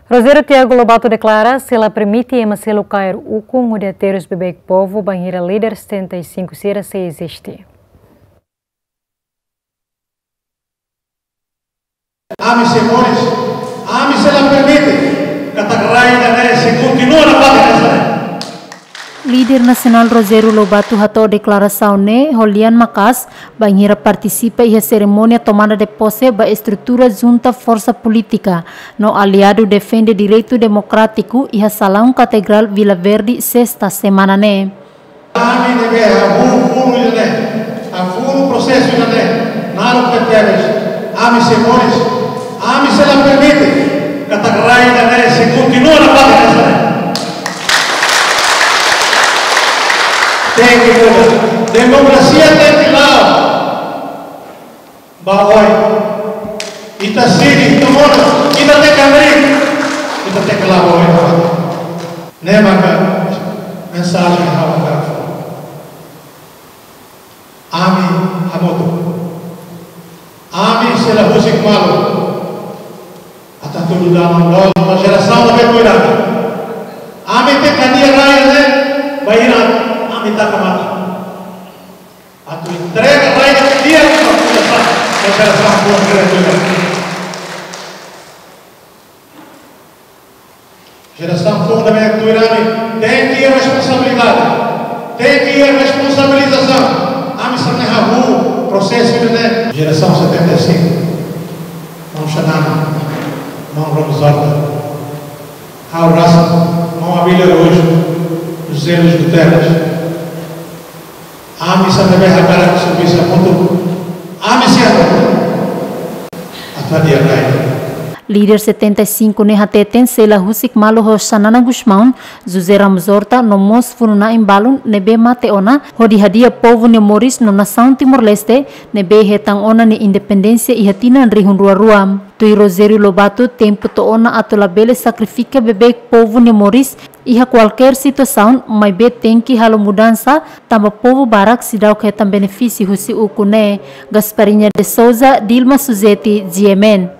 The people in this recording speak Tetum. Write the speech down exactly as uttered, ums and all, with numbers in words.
Rogério Tiago Lobato deklara sei la permite ema seluk kaer ukun hodi aterus beibeik povu bainhira líder setenta e cinco sira sei eziste. Ami sei moris, ami sei la permite katak rai ida-ne'e sei kontinua nafatin hanesan ne'e. Líder nasionál Rogério Lobato hato'o deklarasaun ne'e ho lian maka'as bainhira partisipa iha serimónia tomada de posse ba estrutura junta forsa polítika no aliadu defende direitu demokrátiku iha salaun Katedrál Vila Verde, sesta semana ne'e. Ami ne'ebé hahú funu ida-ne'e, hahú funu prosesu ida-ne'e, naruk tebetebes, ami sei moris, ami sei la permite katak rai ida-ne'e sei kontinua nafatin hanesan ne'e. Tenke muda. Demokrasia tenke la'o ba oin. Ita sidi, ita monu, ita tenke hamriik. Ita tenke la'o ba oin. Ne'e maka mensajen ha'u hakarak fó. Ami hamutuk. Ami sei la husik malu atu hatudu dame loos ba jerasaun ne'ebé tuir ami. Ami tenke hadi'a rai ne'e bainhira ami taka matan. Atu entrega rai ne'e di'ak ba jerasaun, ba jerasaun foun ne'ebé tuir ami. Jerasaun foun ne'ebé tuir ami tenke iha responsabilidade, tenke iha responsabilizasaun. Ami sei hahú prosesu ne'e. Jerasaun setenta e cinco. Maun Xanana, maun Ramos Horta, ha'u rasik, maun Abílio Araújo, José Luís Guterres. Ami sei ne'ebé hakarak servisu hamutuk. Ami sei hamutuk atu hadi'a rai. Líder setenta e cinco ne'e hateten sei la husik malu ho Xanana Gusmão, José Ramos Horta no mós funu-na'in balun ne'ebé mate ona hodi hadi'a povu nia moris no nasaun Timor-Leste ne'ebé hetan ona nia independénsia iha tinan rihun rua rua. Tuir Rogério Lobato, tempu to'o ona atu labele sakrifika beibeik povu nia moris iha kualkér situasaun, maibé tenke halo mudansa tanba povu barak seidauk hetan benefísiu husi ukun ne'e. Gasparinha de Souza, Dilma Suzeti, G M N.